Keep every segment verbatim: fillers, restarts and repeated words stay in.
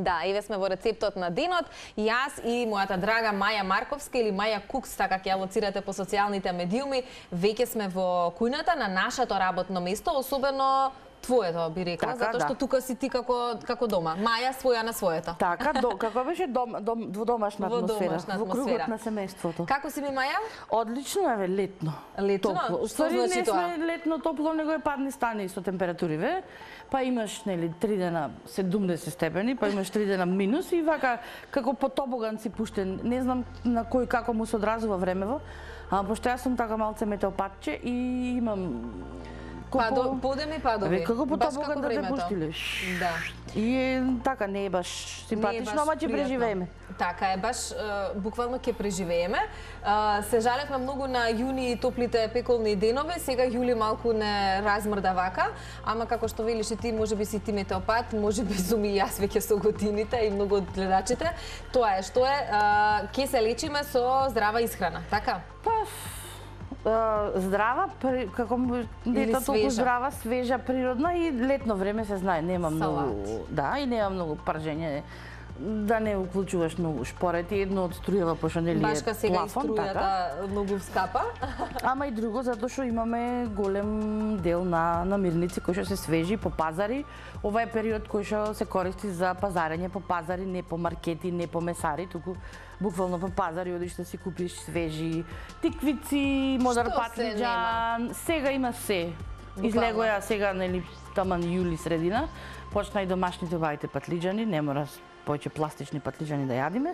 Да, еве сме во рецептот на денот. Јас и мојата драга Маја Марковска или Маја Кукс, така ќе ја лоцирате по социјалните медиуми, веќе сме во кујната на нашето работно место, особено твоето, би рекла, така, затоа што да. тука си ти како како дома. Маја своја на својата. Така, до, како беше дом, дом, дводомашна Во атмосфера, домашна во атмосфера. кругот на семејството. Како си ми, Маја? Одлично е, летно. Летно? Топло. Што Ствари значи не тоа? сме летно топло, него е падни стани со температуриве. Па имаш нели три дена седумдесет степени, па имаш три дена минус и вака како по тобоган си пуштен. Не знам на кој како му се одразува времево, а пошто јас сум така малце метеопатче и имам Падо, подеми падови. Како по Баш тобоган како да те времето. пуштиле. Да. И е, така не е баш симпатично, ама ќе преживееме. Така е, баш е, буквално ќе преживееме. Е, Се жалевме многу на јуни и топлите пеколни денови, сега јули малку не размрда вака, ама како што велиш и ти, можеби си ти метеопат, можеби сум и јас веќе со годините и многу од гледачите. Тоа е што е, е, ќе се лечиме со здрава исхрана, така? Па, здрава, при, како не толку свежа. здрава, свежа, природна и летно време се знае, нема многу, Салат. да, и нема многу пржење. Да не уклучуваш многу шпорети, едно од струјава пошто нели е Башка сега плафон, и струјата така. многу скапа. Ама и друго затоа што имаме голем дел на намирници кои што се свежи по пазари. Ова е период кој што се користи за пазарење по пазари, не по маркети, не по месари, туку буквално по пазари одиш да си купиш свежи тиквици, модар Што се патлиџан, сега има се. Буквално. Излегоја сега нели таман јули средина, почна и домашните убавите патлиџани, не мора повеќе пластични патлиџани да јадиме,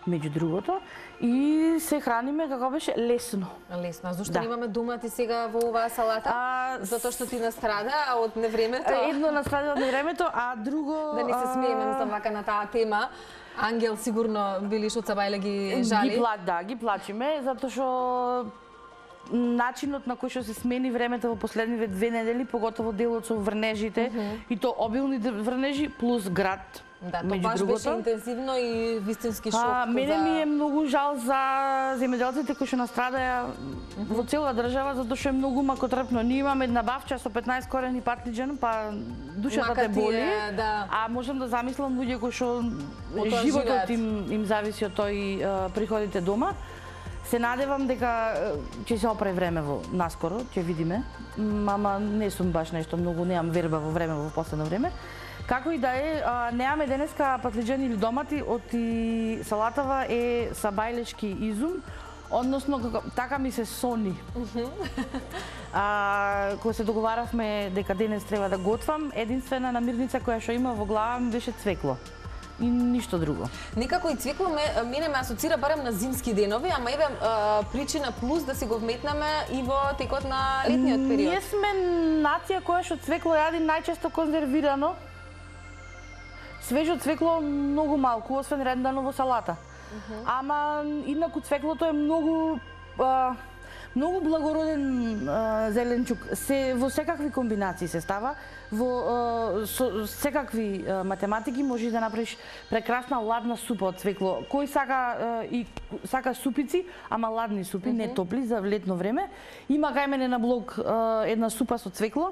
меѓу другото, и се храниме како беше лесно. Лесно. Зошто Да. немаме домати сега во оваа салата? А, Затоа што ти настрада од невремето? Едно настрада од времето, а друго... Да не се смееме, а, мислам, вака на таа тема. Ангел сигурно Билиш од Сабајле ги жали. Ги пла, да, ги плачиме, затоа што начинот на кој што се смени времето во последниве две недели, поготово делот со врнежите, uh -huh. и то обилни врнежи плюс град. Да, тоа меѓу баш другото. беше интензивно и вистински шок. А, мене за... ми е многу жал за земјоделците кои што настрадаја во цела држава, затоа што е многу макотрпно. Ние имаме една бавча со петнаесет корени патлиџан, па душата Мака те ти боли, е, да. а можам да замислам луѓе кои што тоа животот живеат. им, им зависи од тој а, приходите дома. Се надевам дека е, ќе се опре време во наскоро, ќе видиме, М, ама не сум баш нешто многу, немам верба во време во последно време. Како и да е, а, немаме денеска патлиџани или домати, од и салатава е сабајлешки изум, односно како, така ми се сони. А, кога се договаравме дека денес треба да готвам, единствена намирница која што има во глава ми беше цвекло. И ништо друго. Некако и цвекло ме, мене ме асоцира барем на зимски денови, ама еве а, причина плюс да си го вметнеме и во текот на летниот период. Ние сме нација која што цвекло јади најчесто конзервирано. Свежо цвекло многу малку, освен рендано во салата. Uh -huh. Ама инаку цвеклото е многу а, многу благороден а, зеленчук. Се во секакви комбинации се става, во а, со секакви а, математики можеш да направиш прекрасна ладна супа од цвекло. Кој сака а, и сака супици, ама ладни супи, uh -huh. не топли за летно време. Има кај мене на блог а, една супа со цвекло.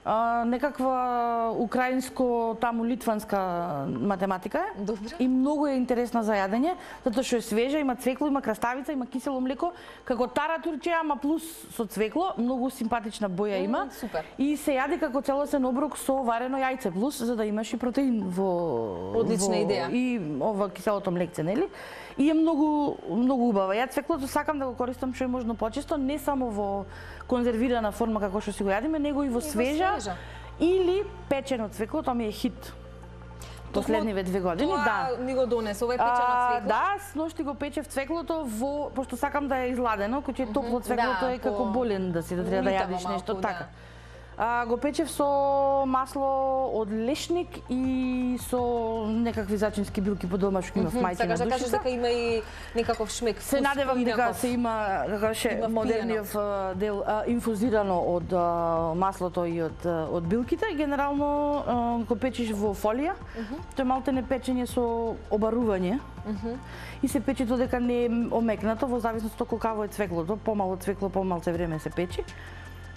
Uh, некаква украинско, таму литванска математика е. Добре. И многу е интересна за јадење, затоа што е свежа, има цвекло, има краставица, има кисело млеко, како таратурче, ама плюс со цвекло, многу симпатична боја има. Mm, супер. И се јади како целосен оброк со варено јајце плюс, за да имаш и протеин во Одлична во, идеја. И ова киселото млекце, нели? И е многу многу убава. Ја цвеклото сакам да го користам што е можно почесто, не само во конзервирана форма како што си го јадиме, него и во свежа, свежа. или печено цвекло, тоа ми е хит. Последниве две години, Тоа да. ми го донесе, ова е печено А, цвекло. да, сношти го печев цвеклото во, пошто сакам да е изладено, кој е топло цвеклото да, е како по- болен да си да треба да умитаво јадиш нешто малку, така. да. А, го печев со масло од лешник и со некакви зачински билки по дома што има в мајчина Сакаш да кажеш душица. дека има и некаков шмек. Се вкус надевам дека поинаков. се има, како ше, Има модерниот а, дел а, инфузирано од а, маслото и од а, од билките. Генерално а, го печеш во фолија. Тоа е малтене печење со обарување. И се пече додека не е омекнато, во зависност од колкаво е цвеклото. Помало цвекло, помалце време се печи.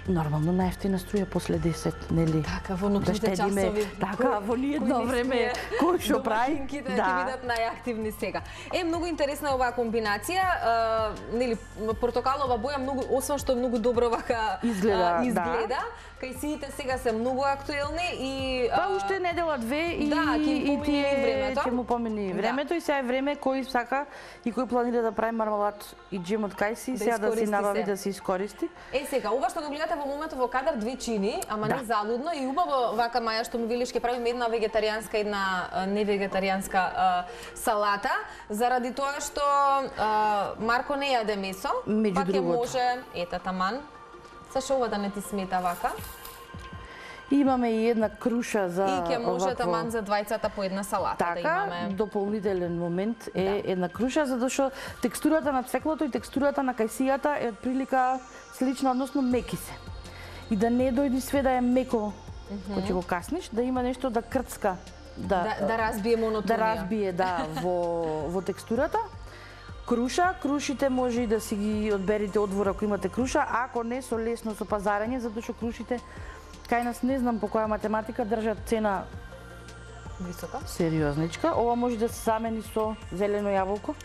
Нормално најефтина струја после десет, нели? Така, во ноќните часови. Така, во ни едно време кој што прави, да ќе бидат најактивни сега. Е, многу интересна е оваа комбинација, нели, портокалова боја многу, освен што многу добро вака изгледа, изгледа. Кајсиите сега се многу актуелни и па уште недела две и да, и тие ќе му помини времето и сега е време кој сака и кој планира да прави мармалад и джем од кајси, сега да си набави да се искористи. Е, сега ова што го гледате во моментот во кадар две чини, ама не залудно и убаво вака Маја што му велиш ќе правиме една вегетаријанска и една невегетаријанска салата, заради тоа што Марко не јаде месо, па ќе може ета таман. Сашо ова да не ти смета вака? Имаме и една круша за и ќе може таман за двајцата по една салата така, да имаме. Така, дополнителен момент е да. една круша, затоа што текстурата на цвеклото и текстурата на кајсијата е отприлика слична, односно меки се. И да не дојди све да е меко, mm -hmm. кога ќе го касниш, да има нешто да крцка, да да, да разбие монотонија. Да разбие, да, во во текстурата. Круша, крушите може и да си ги одберите одвор ако имате круша, ако не со лесно со пазарење, затоа што крушите кај нас не знам по која математика држат цена висока. Сериозничка. Ова може да се замени со зелено јаболко.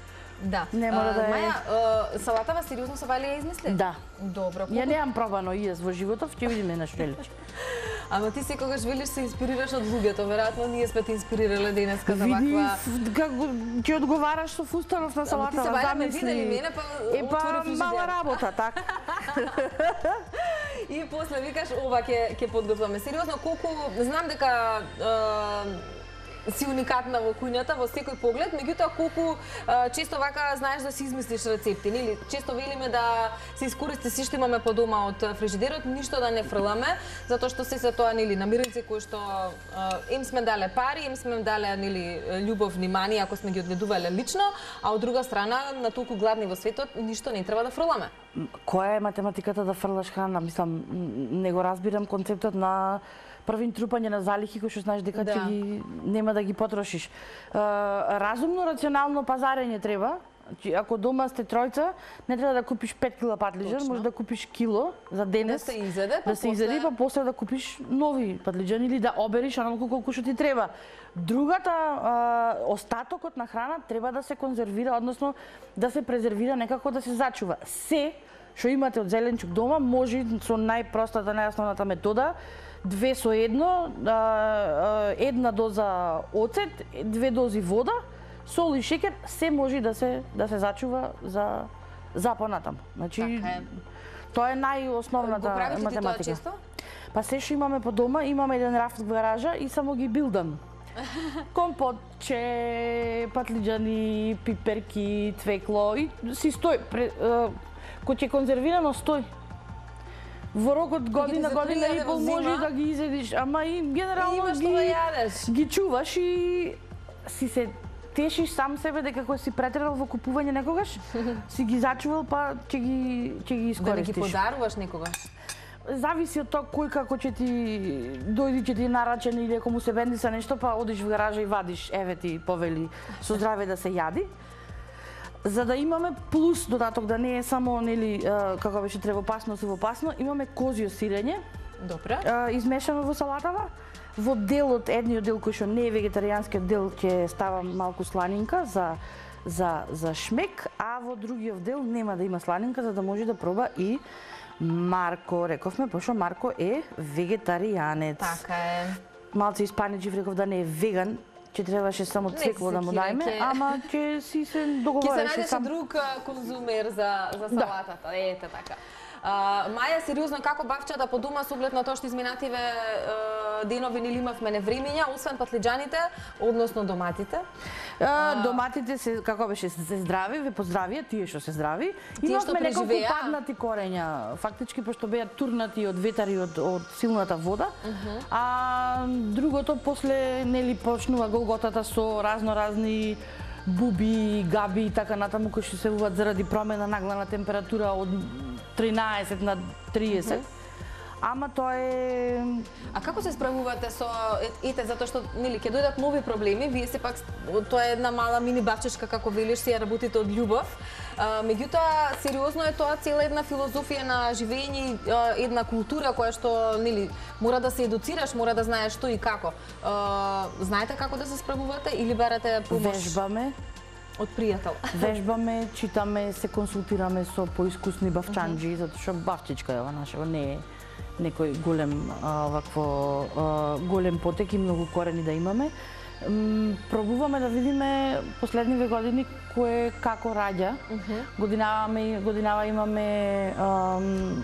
Да. Не мора да е. Маја, салатава сериозно се вали ја измисли? Да. Добро. Ја немам пробано и јас во животов, ќе видиме на што личи. Ама ти секогаш велиш се инспирираш од луѓето, веројатно ние сме те инспирирале денеска за ваква. Види како ќе одговараш со фустанов на салата. Ти се бајаме ме видели мене, па е, па мала работа, така. И после викаш ова ќе ќе подготваме. Сериозно, колку знам дека си уникатна во кујната, во секој поглед, меѓутоа колку а, често вака знаеш да си измислиш рецепти, нели? Често велиме да се искористи се што имаме по дома од фрижидерот, ништо да не фрламе, затоа што се се тоа нели намирници кои што а, им сме дале пари, им сме дале нели љубов, внимание, ако сме ги одгледувале лично, а од друга страна на толку гладни во светот ништо не треба да фрламе. Која е математиката да фрлаш храна? Мислам, не го разбирам концептот на првин трупање на залихи кои што знаеш дека ќе да. ги нема да ги потрошиш. Uh, разумно, рационално пазарење треба. Ако дома сте тројца, не треба да купиш пет кила патлиџан, може да купиш кило за денес. Да се изеде, па да се изеде, па после да купиш нови патлиџани или да обериш онолку колку што ти треба. Другата, а, остатокот на храна треба да се конзервира, односно да се презервира, некако да се зачува. Се што имате од зеленчук дома може со најпростата, најосновната метода, две со едно, една доза оцет, две дози вода, сол и шеќер, се може да се да се зачува за за понатаму. Значи така е. Тоа е најосновната математика. Го правите ти тоа често? Па се што имаме по дома, имаме еден рафт во гаража и само ги билдам. Компотче, патлиџани, пиперки, цвекло и си стои. Кој ќе конзервирано стои. Во рок од година, година и пол можеш да ги изедиш, ама и генерално ги, да ги чуваш и си се тешиш сам себе дека кој си претерал во купување некогаш, си ги зачувал, па ќе ги ќе ги искористиш. Да не ги подаруваш некогаш? Зависи од тоа кој како ќе ти дојди, ќе ти нарачен или ако му се бендиса нешто, па одиш во гаража и вадиш, еве ти повели со здраве да се јади. За да имаме плюс додаток, да не е само нели како беше тревопасно, сувопасно, имаме козјо сирење. Добро. Измешано во салатава. Во делот, едниот дел кој што не е вегетаријанскиот дел, ќе ставам малку сланинка за за за шмек, а во другиот дел нема да има сланинка за да може да проба и Марко. Рековме, пошто Марко е вегетаријанец. Така е. Малце испаничив, реков да не е веган. Ќе требаше само цвекло да му дајме, ке... ама ќе си се договореше сам. Ќе се најдеше друг конзумер за, за салатата, да. Ете така. Uh, Маја, сериозно, како бавчата по дома со оглед на тоа што изминативе uh, денови нели имавме невремиња, освен патлиџаните, односно доматите? Uh, доматите се, како беше, се здрави, ве поздравија, тие што се здрави. Имавме неколку паднати корења, фактички, пошто беа турнати од ветар и од, од силната вода. Uh -huh. А другото, после, нели, почнува голготата со разно-разни буби, габи и така натаму, кои што се уват заради промена нагла на температура од тринаесет на триесет. ама тоа е... А како се справувате со ете затоа што нели ќе дојдат нови проблеми, вие сепак тоа е една мала мини бавчешка како велиш, си ја работите од љубов. А, меѓутоа сериозно е тоа цела една филозофија на живење, една култура која што нели мора да се едуцираш, мора да знаеш што и како. А, знаете како да се справувате или барате помош? Вежбаме. Од пријател. Вежбаме, читаме, се консултираме со поискусни бавчанџи, затоа што бавчичка е ова нашего, не е некој голем а, вакво а, голем потек и многу корени да имаме. М, пробуваме да видиме последниве години кое како раѓа. Uh -huh. Годинава годинава имаме ам,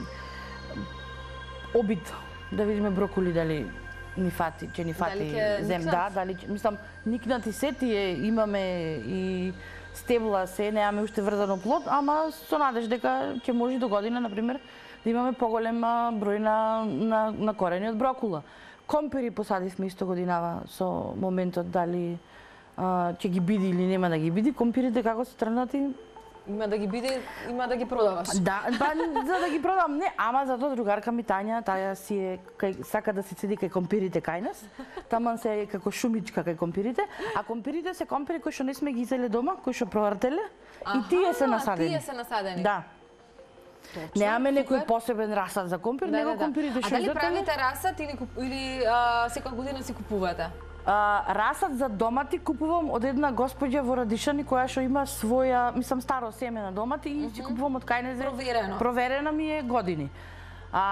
обид да видиме броколи дали ни фати, че ни фати зем, да, дали мислам никнати се тие имаме и стебла се, немаме уште врзано плод, ама со надеж дека ќе може до година на пример да имаме поголем број на на, на корени од брокула. Компири посадивме исто годинава со моментот дали а, ќе ги биди или нема да ги биди. Компирите како се тргнати? Има да ги биде, има да ги продаваш. Да, па за да ги продам не, ама затоа другарка ми Тања, таа си е кај, сака да се седи кај компирите кај нас. Таман се е како шумичка кај компирите, а компирите се компири кои што не сме ги изеле дома, кои што провртеле и тие се насадени. Тие се насадени. Да. Точно, немаме некој супер. посебен расад за компир, Да, него да, да. компирите што А дали изртеле. правите расад или куп- или а, секоја година си купувате? А, расад за домати купувам од една господја во Радишани која што има своја, мислам старо семе на домати и си купувам од кајнезе. Проверено. Проверена ми е години. А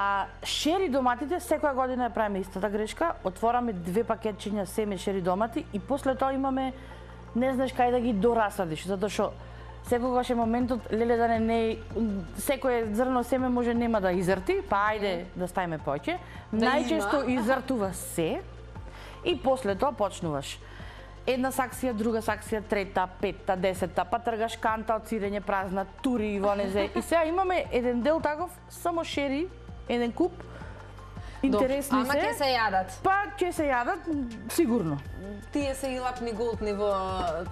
шери доматите секоја година ја правиме истата грешка, отвораме две пакетчиња семе шери домати и после тоа имаме не знаеш кај да ги дорасадиш, затоа што секогаш е моментот леле да не не секое зрно семе може нема да изрти, па ајде да ставиме повеќе. Да Најчесто има. изртува се. И после тоа почнуваш. Една саксија, друга саксија, трета, петта, десетта, па тргаш канта од сирење празна, тури и вонезе. И сега имаме еден дел таков, само шери, еден куп, интересни Ама се. ќе се јадат. Па ќе се јадат, сигурно. Тие се и лапни голтни во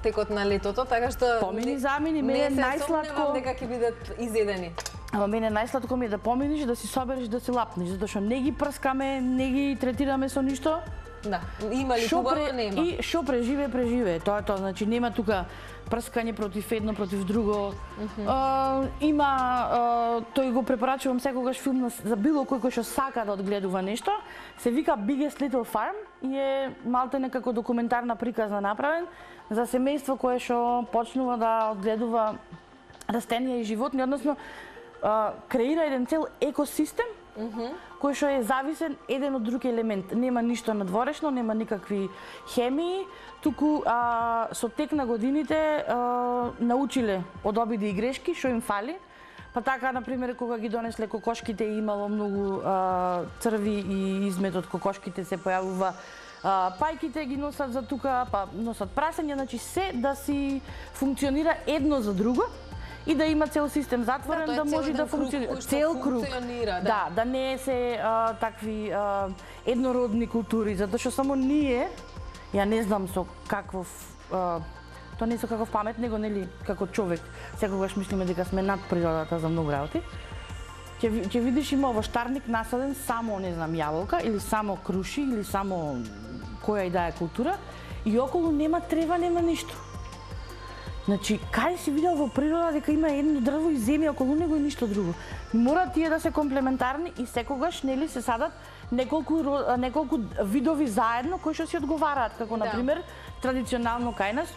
текот на летото, така што Помини замини, мене не се најсладко- сомневам дека ќе бидат изедени. Ама мене најсладко ми е да поминиш, да си собереш, да си лапнеш, затоа што не ги прскаме, не ги третираме со ништо. Да, има ли Шо хубаво, пре- нема. И што преживе, преживе. Тоа е тоа, значи нема тука прскање против едно, против друго. А, има, а, тој го препорачувам секогаш филм на- за било кој кој што сака да одгледува нешто. Се вика Biggest Little Farm и е малтене како документарна приказна направен за семејство кое што почнува да одгледува растенија и животни, односно а, креира еден цел екосистем кој што е зависен еден од друг елемент. Нема ништо надворешно, нема никакви хемии, туку а, со тек на годините а, научиле од обиди и грешки што им фали. Па така, например, кога ги донесле кокошките и имало многу а, црви и измет од кокошките се појавува, а, пајките ги носат за тука, па носат прасење, значи се да си функционира едно за друго и да има цел систем затворен, Да, да, тоа е цел може еден да круг функционира. кој што Цел круг. функционира, да. Да, да не се а, такви а, еднородни култури, затоа што само ние, ја не знам со каков, а, тоа не со каков памет, него нели како човек, секогаш мислиме дека сме над природата за многу работи. Ќе ви- ќе видиш има овоштарник насаден само, не знам, јаболка или само круши или само која и да е култура и околу нема трева, нема ништо. Значи, кај си видел во природа дека има едно дрво и земја околу него и ништо друго? Мора тие да се комплементарни и секогаш нели се садат неколку ро- неколку видови заедно кои што си одговараат, како Да. на пример традиционално кај нас.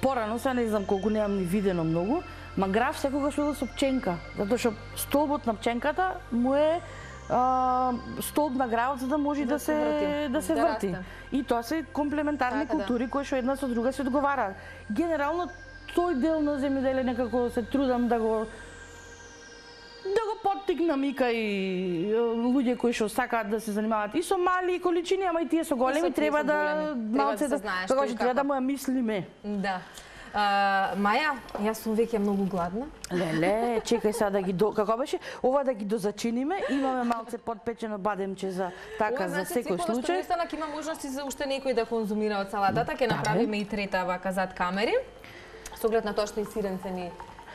Порано се не знам колку немам ни видено многу, ма граф секогаш бидел со пченка, затоа што столбот на пченката му е а, столб на гравот за да може да, Да се се врти, да се да врти. расте. И тоа се комплементарни Така да. култури кои што една со друга се одговараат. Генерално тој дел на земјоделие некако се трудам да го да го поттикнам и кај е, луѓе кои што сакаат да се занимаваат и со мали количини, ама и тие со големи тие треба со да големи. Треба малце да се да знае како што и што треба да како. му ја мислиме. Да. А, Маја, јас сум веќе многу гладна. Леле, чекај сега да ги до... како беше? Ова да ги дозачиниме, имаме малце подпечено бадемче за така Ова, за значи, секој секој случај. настанак има можности за уште некој да конзумира од салатата, ќе Да, направиме и трета вака зад камери. Со оглед на тоа што и сиренце ни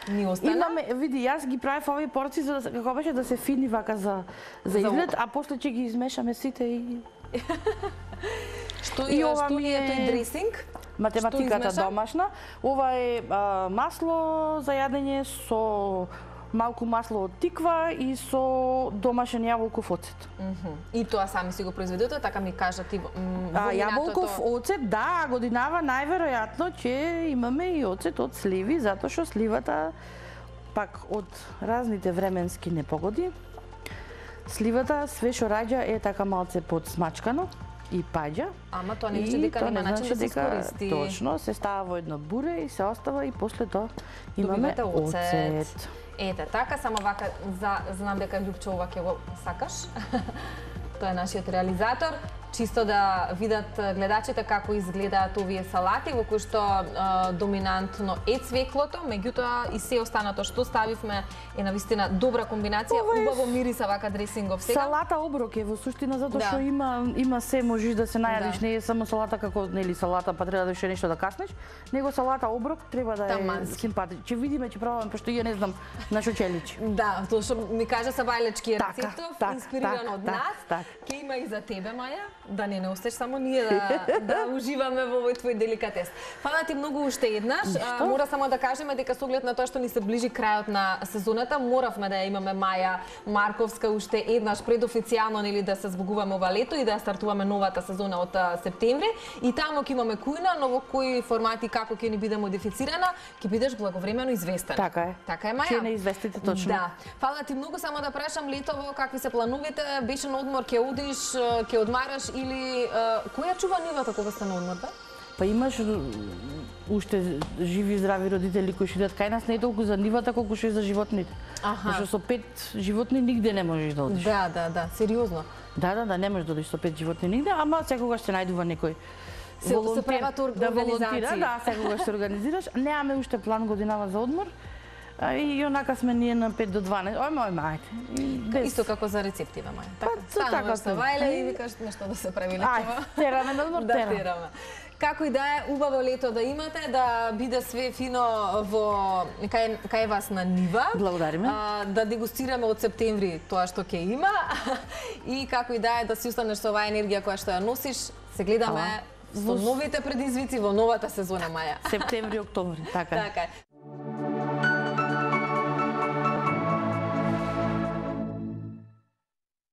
ни остана. Имаме, види, јас ги правев овие порци за да, како беше да се фини вака за за изглед, а после ќе ги измешаме сите и Што е, што е тој дресинг? Математиката домашна. Ова е а, масло за јадење со малку масло од тиква и со домашен јаболков оцет. Mm -hmm. И тоа сами си го произведете, така ми кажа ти во а, јаболков оцет, да, годинава најверојатно ќе имаме и оцет од сливи, затоа што сливата пак од разните временски непогоди. Сливата све што раѓа е така малце подсмачкано и паѓа. Ама тоа не значи дека нема начин да се искористи. Точно, се става во едно буре и се остава и после тоа имаме оцет. Ете, така, само вака, за, знам дека Љупчо ова ќе го сакаш. Тоа е нашиот реализатор. Чисто да видат гледачите како изгледаат овие салати, во кои што е, доминантно е цвеклото, меѓутоа и се останато што ставивме е навистина добра комбинација, убаво мириса вака дресингов сега. Салата оброк е во суштина затоа што да. има има се можеш да се најадиш, да. не е само салата како нели салата па треба да уште нешто да каснеш, него салата оброк треба да е симпатичен. Ќе видиме, ќе пробаме, пошто ја не знам на што ќе личи. Да, тоа што ми кажа Сабајлечки така, рецептов, так, инспириран так, од так, нас. Так. Ќе има и за тебе, Маја, да не не остеш само ние да да уживаме во овој твој деликатес. Фала ти многу уште еднаш. А, мора само да кажеме дека со оглед на тоа што ни се ближи крајот на сезоната, моравме да ја имаме Маја Марковска уште еднаш предофицијално нели да се збогуваме ова лето и да стартуваме новата сезона од септември. И таму ќе имаме кујна, но во кои формати како ќе ни биде модифицирана, ќе бидеш благовремено известен. Така е. Така е, Маја. Ќе не известите точно. Да. Фала ти многу, само да прашам летово какви се плановите? Беше на одмор, ќе одиш, ќе одмараш или која чува нивата кога сте на одмор, да? Па имаш уште живи здрави родители кои што идат кај нас, не е толку за нивата колку што е за животните. Аха. Пошто со пет животни нигде не можеш да одиш. Да, да, да, сериозно. Да, да, да, не можеш да одиш со пет животни нигде, ама секогаш се најдува некој се, волонтер, се прават да волонтира, да, секогаш се организираш. Немаме уште план годинава за одмор. А, и онака сме ние на пет до дванаесет. Ој, мој, мајте. Без... Исто како за рецептиве, Маја. Така, па, така се вајле и викаш нешто да се прави летово. Ај, тераме на одмор, да, тераме. Како и да е, убаво лето да имате, да биде све фино во кај, кај вас на нива. Благодариме. А, да дегустираме од септември тоа што ќе има. И како и да е, да си останеш со оваа енергија која што ја носиш. Се гледаме со новите предизвици во новата сезона, Маја. Септември, октомври, така. Така е.